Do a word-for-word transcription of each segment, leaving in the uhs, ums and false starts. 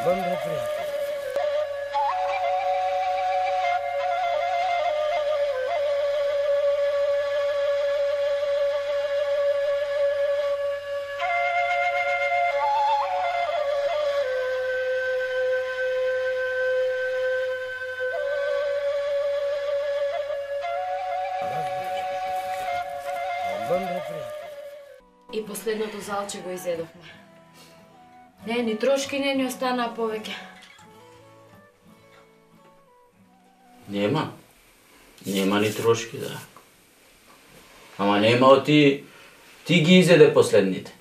Албан, бе, пријател. И последното залче го изедохме. Не, ни трошки не ни останаа повеќе. Нема. Нема ни трошки, да. Ама нема од ти... Ти ги изеде последните.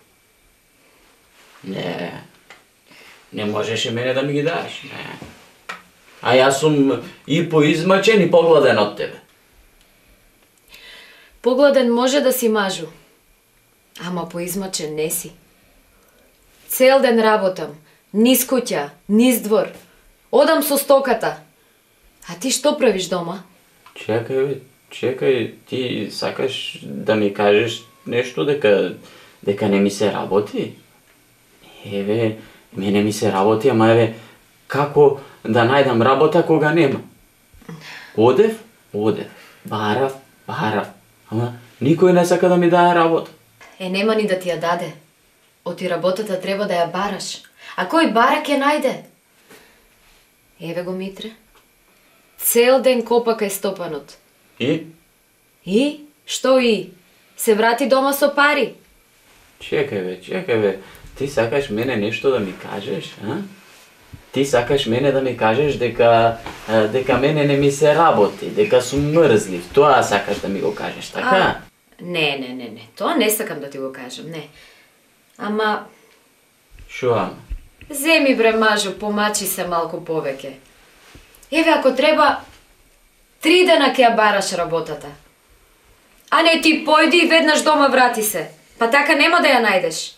Не. Не можеше мене да ми ги даеш, не. А јас сум и поизмачен и погладен од тебе. Погладен може да си мажу. Ама поизмачен не си. Цел ден работам, низ куќа, низ двор. Одам со стоката. А ти што правиш дома? Чекај, бе, чекај, ти сакаш да ми кажеш нешто дека дека не ми се работи? Еве, мене ми се работи, ама еве, како да најдам работа кога нема? Одев, одев, барав, барав, ама никој не сака да ми даде работа. Е, нема ни да ти ја даде. Оти работата треба да ја бараш. А кој бара ќе најде? Еве го, Митре. Цел ден копа кај стопанот. И? И? Што и? Се врати дома со пари. Чекај, бе, чекај, бе. Ти сакаш мене нешто да ми кажеш, а? Ти сакаш мене да ми кажеш дека дека мене не ми се работи, дека сум мрзлив. Тоа сакаш да ми го кажеш, така? А, не, не, не, не. Тоа не сакам да ти го кажам, не. Ама... Шо ама? Земи, бре, мажо, помачи се малку повеќе. Еве, ако треба, три дена ќе ја бараш работата. А не, ти појди и веднаш дома врати се. Па така нема да ја најдеш.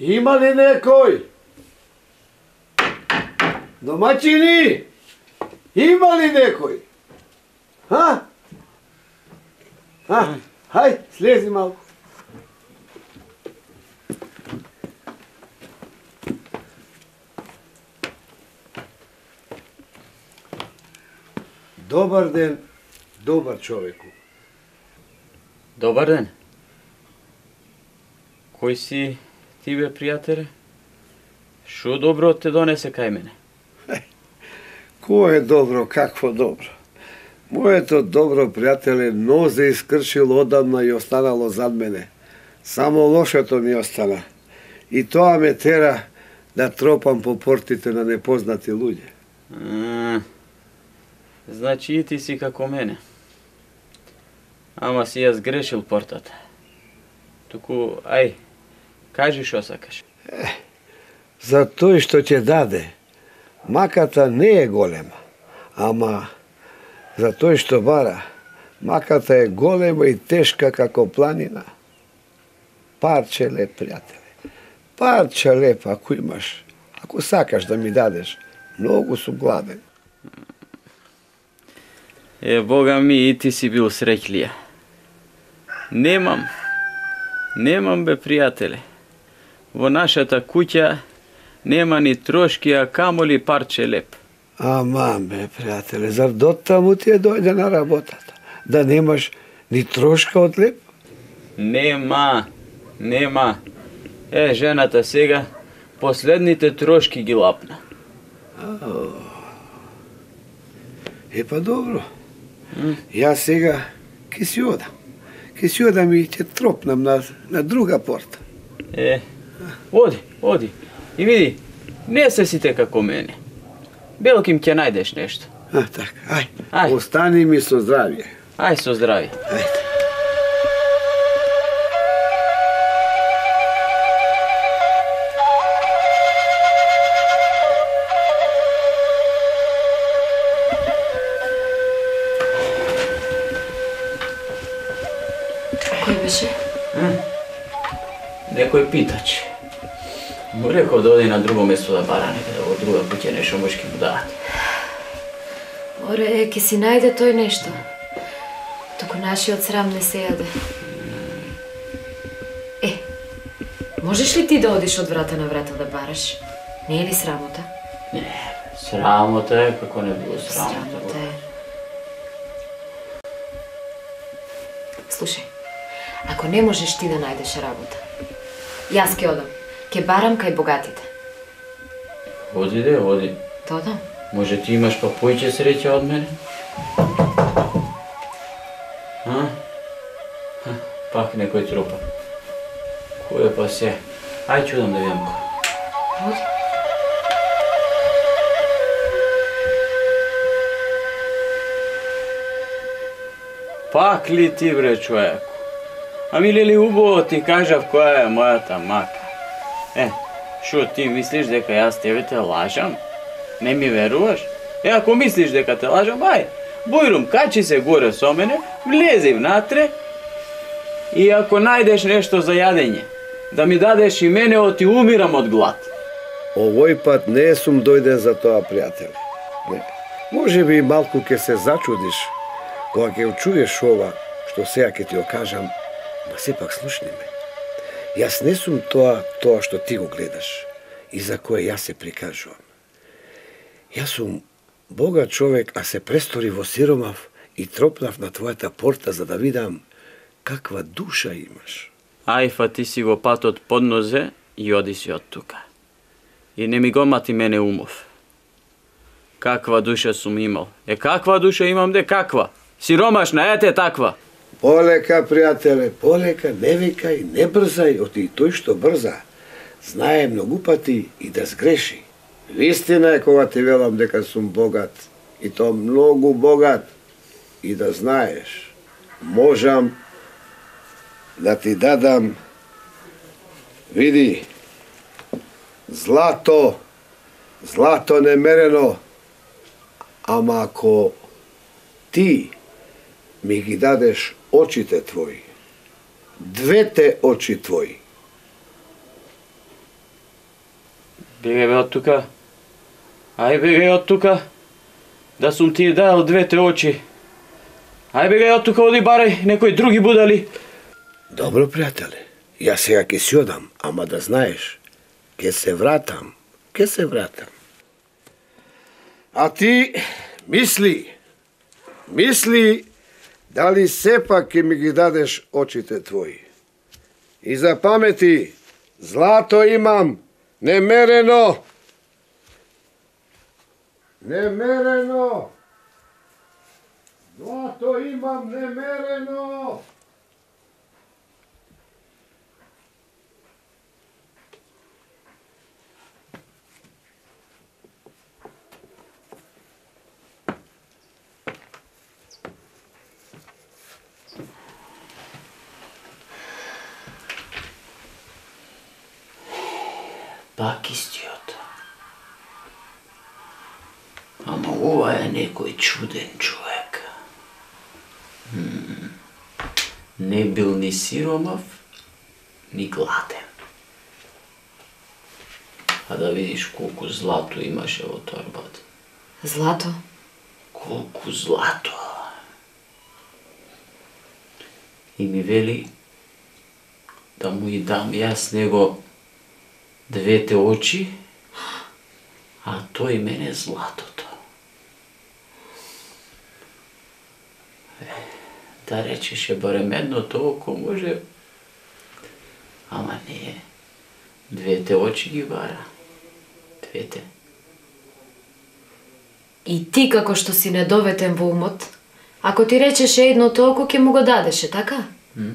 Има ли некој? Домаќини? Има ли некој? Ха? Ха? Хај, слези малку. Добар ден, добар човеку. Добар ден. Кој си ти, бе, пријателе? Шо добро те донесе кај мене? Кој е добро, какво добро? Моето добро, пријателе, нозе искршило одамна и останало зад мене. Само лошото ми остана. И тоа ме тера да тропам по портите на непознати луѓе. А, значи и ти си како мене. Ама си ја сгрешил портата. Туку, ај, кажи шо сакаш. Е, за тој што ќе даде, маката не е голема, ама за тој што бара, маката е голема и тешка како планина. Парче леп, пријателе. Парче леп, ако имаш, ако сакаш да ми дадеш, многу сум гладен. Е, Бога ми, и ти си бил среќлија. Немам, немам, бе, пријателе. Во нашата куќа нема ни трошки, а камоли парче леп. Аман, бе, пријателе, зар доттаму ти е дојде на работата? Да немаш ни трошка од леп? Нема, нема. Е, жената сега последните трошки ги лапна. Е, па добро. Јас сега ке си одам. Ке си одам и ќе тропнам на, на друга порта. Е, оди, оди. И види, не се сите како мене. Белким ќе најдеш нешто. А, така, ај. Ај. Остани ми со здравје. Ај со здравје. Ајде. Кој беше? Некој питач. Му реков да оди на друго место да бара некаде во друга куќа нешто можки му дадат. Оре, ке си најде тој нешто. Туку нашиот срам не се јаде. Можеш ли ти да одиш од врата на врата да бараш? Не е ли срамота? Не, срамота е, како не било срамота. Срамота е. Слушај, ако не можеш ти да најдеш работа, јас ке одам. Ке барам кај богатите. Оди де, оди. Да одам. Може ти имаш па поиќе среќа од мене? А? Пак некој трупа. Кој е па се? Ај чудам да видам кој. Оди. Пак ли ти бре човеку? Ами ли ли убаво ти кажав која е мојата мака? Е, шо ти мислиш дека јас тебе те лажам? Не ми веруваш? Е, ако мислиш дека те лажам, ај, Бојрум, качи се горе со мене, влези внатре и ако најдеш нешто за јадење, да ми дадеш и мене, оти умирам од глад. Овој пат не сум дојден за тоа, пријателе. Не. Може би малку ќе се зачудиш кога ќе чуеш ова што сега ќе ти окажам, ма сепак слушни ме. Јас не сум тоа, тоа што ти го гледаш и за кое јас се прикажувам. Јас сум богат човек, а се престори во сиромав и тропнав на твојата порта за да видам каква душа имаш. Ај, фати си го патот под нозе и оди си од тука. И не ми го мати мене умов. Каква душа сум имал? Е, каква душа имам де, каква? Сиромашна, ете таква. Полека, пријателе, полека, не викај, не брзај, оти тој што брза, знае многу пати и да сгреши. Вистина е кога ти велам дека сум богат, и то многу богат, и да знаеш, можам да ти дадам, види, злато, злато немерено, ама ако ти ми ги дадеш очите твои, двете очи твои. Бегај бе од тука. Ај бегај од тука. Да сум ти дал двете очи. Ај бегај од тука, оди барај некои други будали. Добро, пријателе. Јас сега ќе си одам, ама да знаеш, ќе се вратам, ќе се вратам. А ти мисли, мисли дали сепак ќе ми ги дадеш очите твои. И запамети, злато имам, немерено. Немерено. Злато имам, немерено. Пак истиот. Ама ова е некој чуден човек. М-м. Не бил ни сиромав, ни гладен. А да видиш колку злато имаше во торбата. Злато? Колку злато. И ми вели да му и дам јас него двете очи, а тој мене златото. Е, да речеше барем едното око може, ама не, двете очи ги бара. Двете. И ти како што си недоветен во умот, ако ти речеше едното око, ќе му го дадеше, така? М?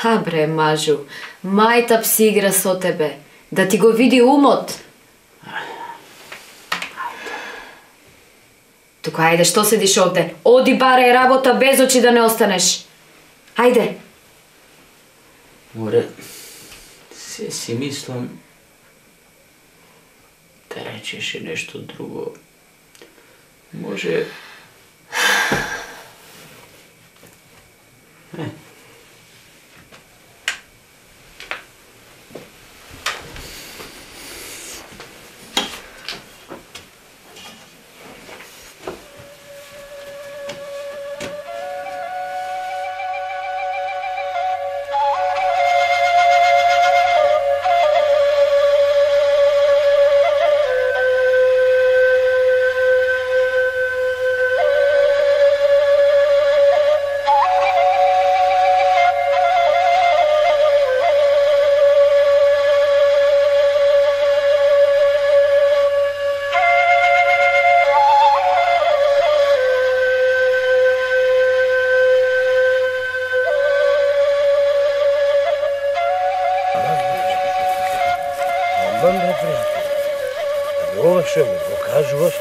А бре, мажу, мајтап си игра со тебе, да ти го види умот. Тука, ајде, што седиш овде? Оди барај работа без очи да не останеш. Ајде. Море, се си мислам да речеше нешто друго. Може... Е. што ми го кажуваш,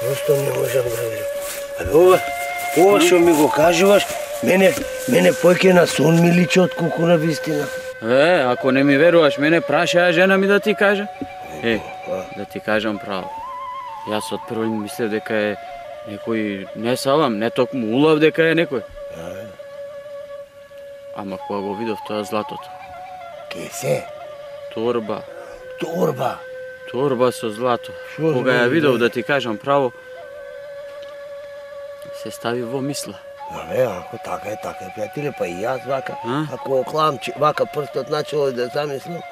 просто не можам да верам. Абе, ова, ова што ми го кажуваш, мене, мене појќе на сон ми личи отколку на вистина. Е, ако не ми веруваш, мене прашаја жена ми да ти кажа. Е, да ти кажам право. Јас од прво мислев дека е некој, не салам, не токму улав дека е некој. Ама кога го видов тоа златото. Ке се? Торба. Торба? Торба со злато. Шо Кога ја збори, видов, бе? да ти кажам право, се стави во мисла. Абе, ако така е, така е, пријателе, па и јас вака, А? ако оклам вака прстот начало да замислам.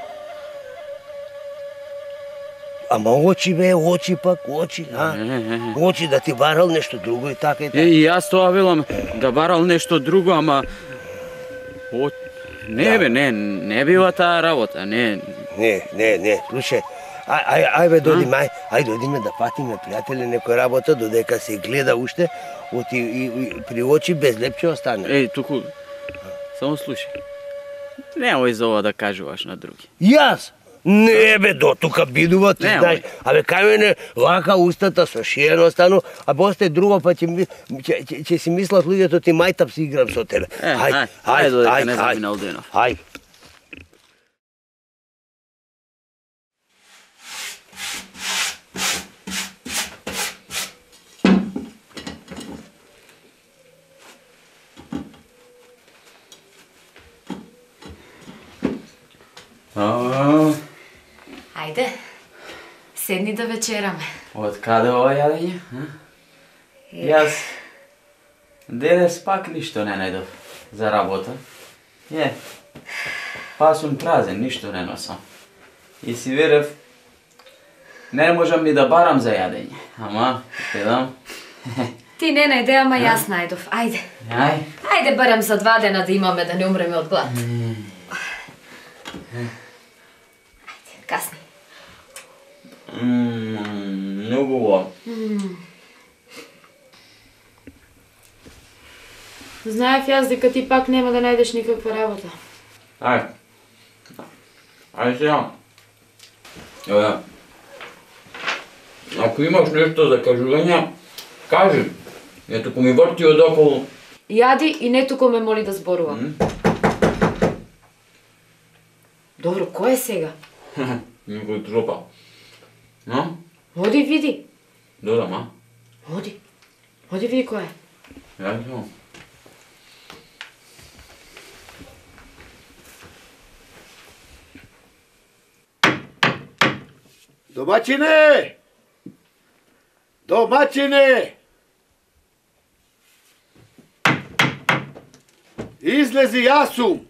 Ама очи бе, очи пак, очи, а? Е, е, е. Очи да ти барал нешто друго и така и Е, така. и јас тоа велам, да барал нешто друго, ама... О... Не бе, не, не била таа работа, не... Не, не, не, слушај, ај, ај, ај бе, дојдиме, ај, ај дојдиме да патиме, пријателе, некој работа, додека се гледа уште, оти и, и при очи без лепче остане. Еј, туку... Само слушај. Немој за ова да кажуваш на други. Јас? Не бе, до тука бидува, ти Немој. знаеш. Абе, кај мене лака устата со шиено остану, а после друго па ќе, ми- ќе, ќе, ќе си мислат луѓето ти мајтап си играм со тебе. Е, ај, ај, додека не заминал денов. Ај. А, Ајде, седни да вечераме. од каде ова јадење? а? Јас денес пак ништо не најдов за работа. Е, па сум празен, ништо не носам. И си верев, не можам ни да барам за јадење. Ама, гледам. Ти не најде, ама јас најдов. Ајде. Ај, Ајде барем за два дена да имаме да не умреме од глад. Ајде, касни. мм, многу убаво. Знаев јас дека ти пак нема да најдеш никаква работа. Ај. Ај сега. Ева. Ако имаш нешто за кажување, кажи. Не туку ми врти одоколу. Јади и не туку ме моли да зборувам. Добро, кој е сега? Никој тропа. Но? Оди види. Додам, а? Оди. Оди види кој е. Ја знам. Домаќине! Домаќине! Излези, јас сум!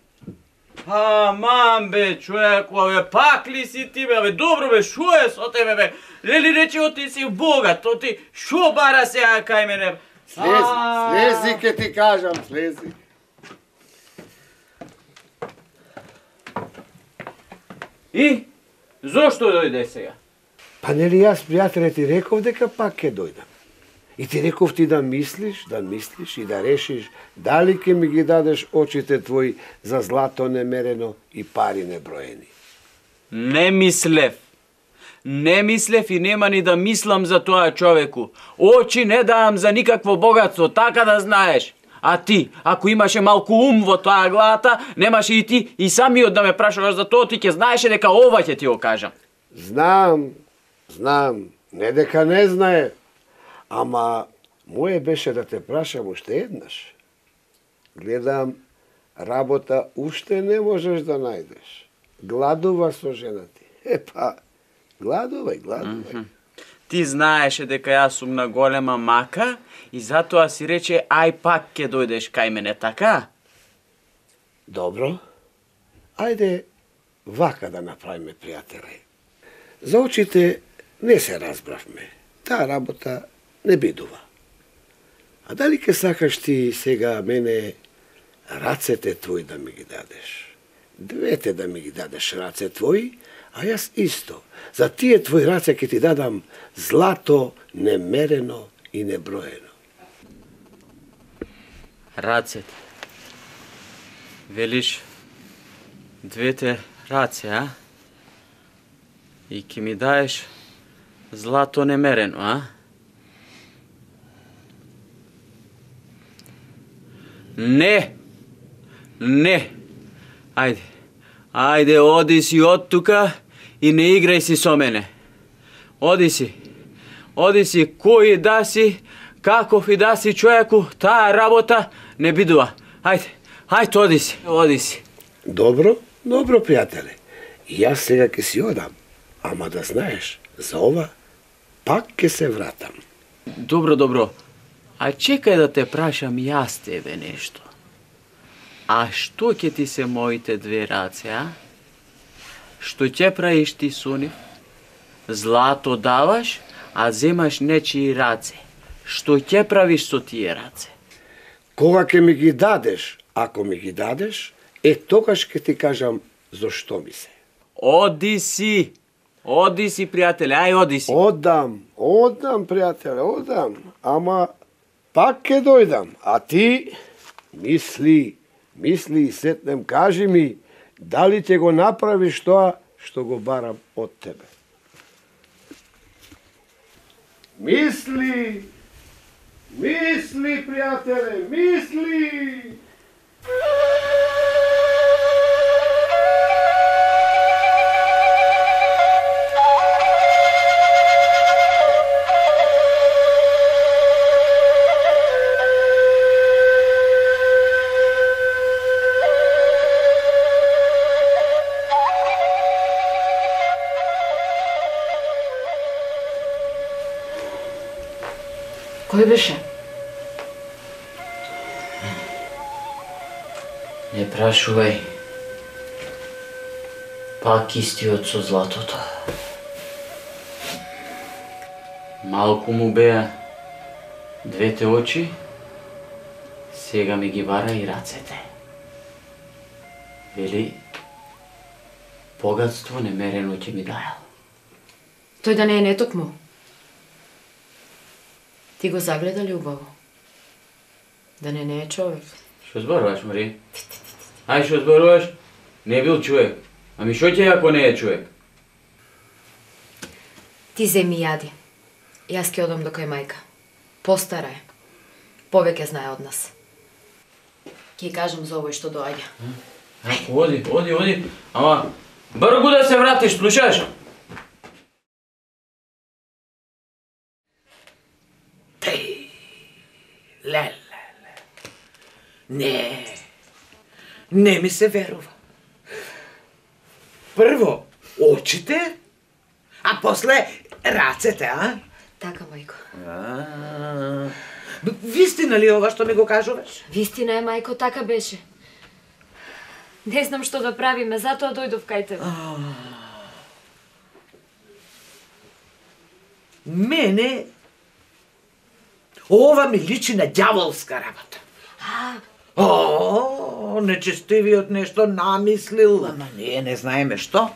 Аман бе, човеко, бе, пак ли си ти бе, бе, добро бе, шо е со тебе бе? Лели рече, ти си богат, то ти шо бара сега кај мене? Слези, слези ке ти кажам, слези. И? Зошто дојде сега? Па нели јас, пријателе, ти реков дека пак ке дојдам. И ти реков ти да мислиш, да мислиш и да решиш дали ке ми ги дадеш очите твои за злато немерено и пари неброени. Не мислев. Не мислев и нема ни да мислам за тоа, човеку. Очи не давам за никакво богатство, така да знаеш. А ти, ако имаше малку ум во тоа главата, немаше и ти и самиот да ме прашуваш за тоа, ти ќе знаеше дека ова ќе ти го кажам. Знам, знам, не дека не знае, ама моje беше да те прашам уште еднаш. Гледам, работа уште не можеш да најдеш. Гладува со жена ти. Е па, гладувај, гладувај. Ти знаеше дека јас сум на голема мака и затоа си рече ај пак ќе дојдеш кај мене, така? Добро, ајде вака да направиме, пријателе. За очите не се разбравме. Таа работа не бидува. А дали ке сакаш ти сега мене рацете твои да ми ги дадеш? Двете да ми ги дадеш раце твои, а јас исто. За тие твои раце ќе ти дадам злато немерено и неброено. Рацете. Велиш двете раце, а? И ќе ми даеш Злато немерено, а? Не! Не! Ајде, ајде, оди си од тука и не играј си со мене. Оди си, оди си, кој да си, каков и да си човеку, таа работа не бидува. Ајде, ајде, оди си, оди си. Добро, добро, пријателе. И јас сега ќе си одам. Ама да знаеш, за ова пак ќе се вратам. Добро, добро. А чекај да те прашам јас тебе нешто. А што ќе ти се моите две раце, а? Што ќе правиш ти со нив? Злато даваш, а земаш нечии раце. Што ќе правиш со тие раце? Кога ќе ми ги дадеш, ако ми ги дадеш, е тогаш ќе ти кажам зошто ми се. Оди си! Оди си, пријателе, ај оди си. Одам, одам, пријателе, одам. Ама пак ќе дојдам. А ти мисли, мисли и сетнем, кажи ми, дали ќе го направиш тоа што го барам од тебе. Мисли, мисли, пријателе, мисли! Кој беше? Не прашувај. Пак истиот со златото. Малку му беа двете очи, сега ми ги вара и рацете. Вели, богатство немерено ќе ми дајал. Тој да не е нетокму. Ти го загледа ли убаво? Да не не е човек. Што зборуваш, Мари? Ај, што зборуваш? Не бил човек. Ами што ќе ако не е човек? Ти земи јади. Јас ќе одам до кај мајка. Постара е. Повеќе знае од нас. Ќе кажам за овој што доаѓа. Ако оди, оди, оди. Ама, бргу да се вратиш, слушаш? Ле, ле, ле. Не, не ми се верува. Прво очите, а после рацете, а? Така, мајко. А, вистина ли ова што ми го кажуваш? Вистина е, мајко, така беше. Не знам што да правиме, затоа дојдов кај тебе. Мене ова ми личи на ѓаволска работа. О, нечестивиот нешто намислил, ама ние не знаеме што.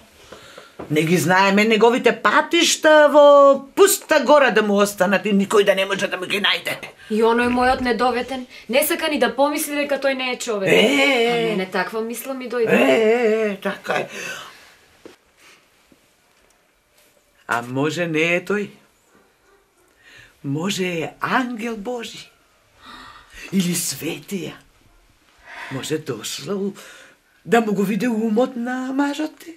Не ги знаеме неговите патишта во пуста гора да му останат и никој да не може да му ги најде. И оној мојот недоветен не сака ни да помисли дека тој не е човек. Е, А мене таква мисла ми дојде. Е, е, така е. А може не е тој? Може е ангел Божи. Или светија. Може дошло да му го виде умот на мажот ти.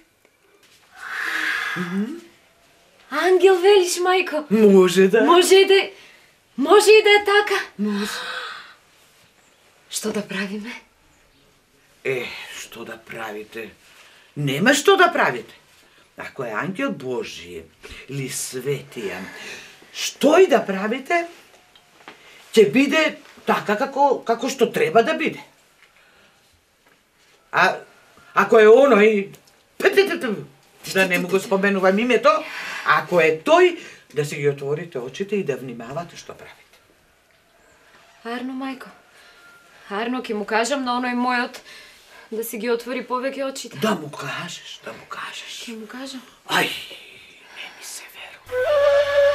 Ангел велиш, мајко. Може да. Може и да може и да е така. Може. Што да правиме? Е, што да правите? Нема што да правите. Ако е ангел Божи или светија, што и да правите, ќе биде така како, како што треба да биде. А ако е оној, да не му го споменувам името, ако е тој, да си ги отворите очите и да внимавате што правите. Арно, мајко. Арно, ќе му кажам на оној мојот да си ги отвори повеќе очите. Да му кажеш, да му кажеш. Ќе му кажам. Ај, не ми се верува.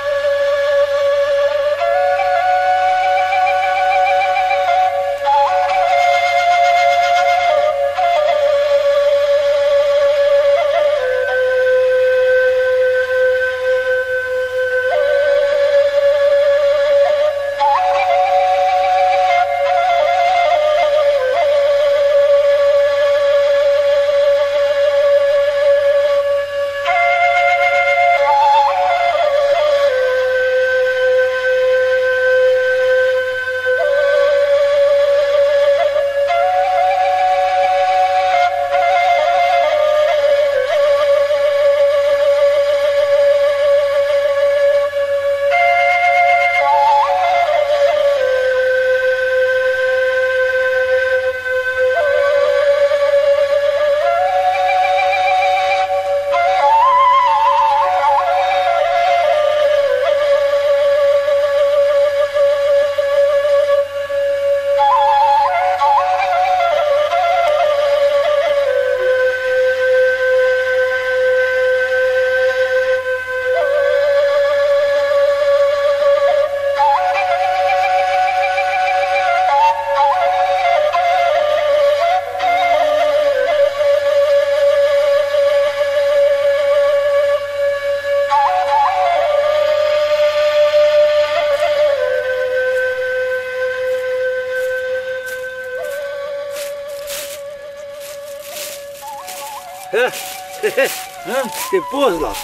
Те познав.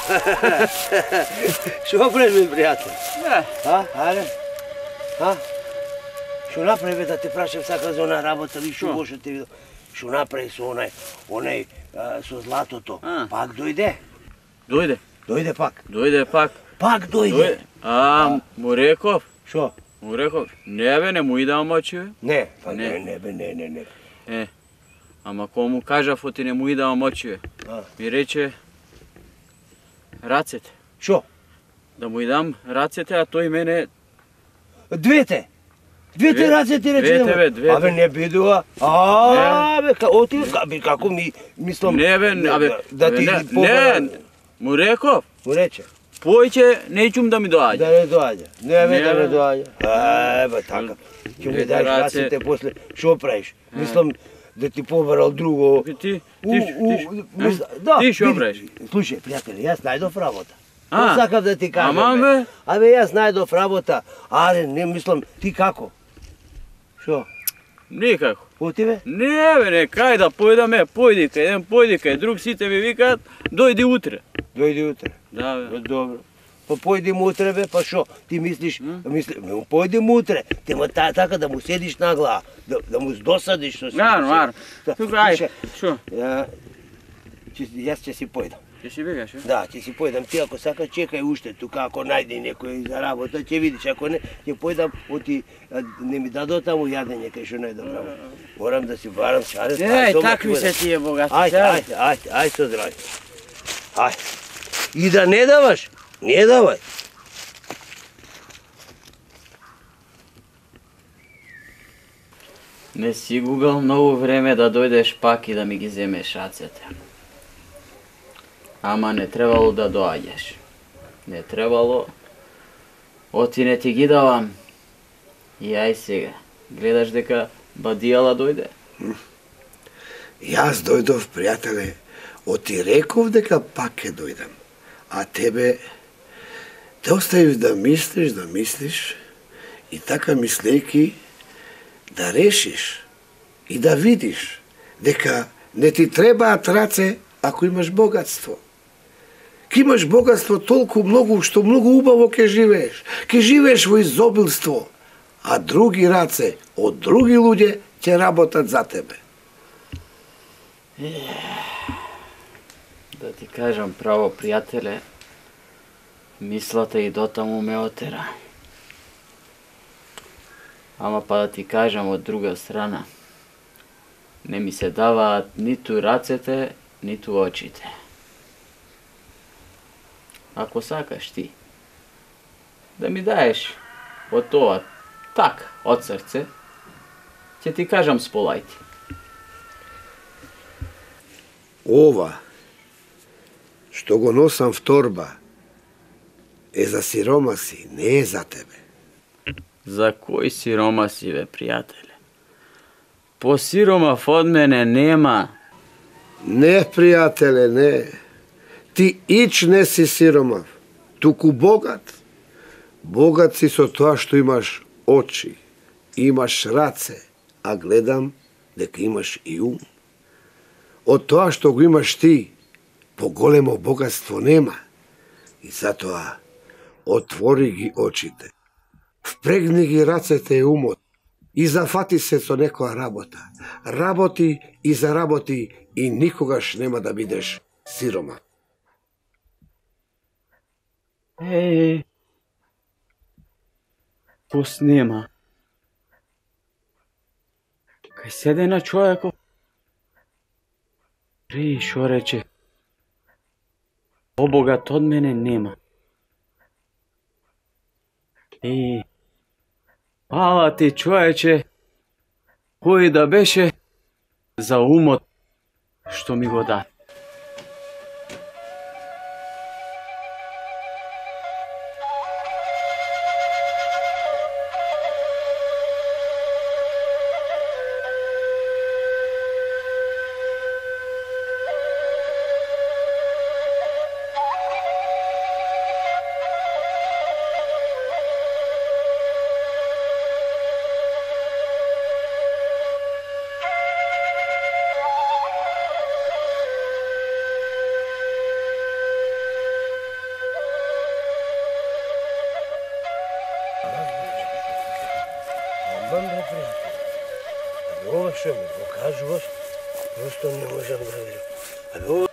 Што правиш, бе, пријател? А, аре? А? Што направи, бе, да те прашам сака за она работа, ви што лошо те видел? Што направи со онај, онај, со златото? Пак дојде? Дојде. Дојде пак? Дојде пак. Пак дојде? А, му реков? Што? Му реков, не бе, не му идам мочи, бе. Не, па не, не, бе, не, не, не. Е, ама кога му кажав, оти не му идам мочи, бе. Ми рече, рацете. Што? Да му идам рацете, а тој мене... Двете? Двете рацете ти рече? Двете, бе, двете. Абе, не бидува. А, бе, оти, како ми, мислам... Не, бе, абе, да ти не, му реков. Му рече? Појќе, неќум да ми доаѓа. Да не доаѓа. Не, бе, да не доаѓа. А, бе, така. Ќе ми даеш рацете после, што правиш? Мислам да ти побарал друго... Ти, ти, ти, да, ти што правиш? Слушај, пријатели, јас најдов работа. А, сакав да ти кажам, ама, бе. Абе, јас најдов работа. Аре, не мислам, ти како? Што? Никако. Оти, бе? Не, бе, не, кај да појдаме, појди кај, еден појди кај, друг сите ми викаат, дојди утре. Дојди утре? Да, бе. Добро. Па појди утре, бе, па шо? Ти мислиш, мисли, појди утре, тема така да му седиш на глава, да, да му досадиш со си. Наро, наро. Тука, ај, шо? Јас ќе си појдам. Ќе си бегаш, е? Да, ќе си појдам. Ти ако сака чекај уште тука, ако најде некој за работа, ќе видиш, ако не, ќе појдам, оти не ми дадо таму јадење кај што најдам работа. Морам да си барам шаре. Еј, такви се тие богати. Ајде, ајде, ајде, ајде со здравје. Ајде. И да не даваш, не давај. Не си губел многу време да дојдеш пак и да ми ги земеш рацете. Ама не требало да доаѓаш. Не требало. Оти не ти ги давам. И ај сега. Гледаш дека бадијала дојде? Јас дојдов, пријателе, оти реков дека пак ќе дојдам. А тебе те оставив да мислиш, да мислиш и така мислејки да решиш и да видиш дека не ти требаат раце ако имаш богатство. Ке имаш богатство толку многу што многу убаво ќе живееш. Ке живееш во изобилство, а други раце од други луѓе ќе работат за тебе. Да ти кажам право, пријателе, мислата и дотаму ме отера. Ама па да ти кажам од друга страна, не ми се даваат ниту рацете, ниту очите. Ако сакаш ти да ми даеш од тоа так, од срце, ќе ти кажам сполајти. Ова што го носам в торба е за сиромаси, не е за тебе. За кој сиромаси, бе, пријателе? По сиромав од мене нема. Не, пријателе, не. Ти ич не си сиромав, туку богат. Богат си со тоа што имаш очи, имаш раце, а гледам дека имаш и ум. Од тоа што го имаш ти, поголемо богатство нема. И затоа отвори ги очите, впрегни ги рацете и умот и зафати се со некоја работа. Работи и заработи и никогаш нема да бидеш сирома. Еј, пус нема. Кај седе на човеков. Ри, шо рече? Побогат од мене нема. Еј, пала ти човече, кој да беше за умот што ми го даде. Ова што ми го кажуваш, просто не можам да верам. Абе, ова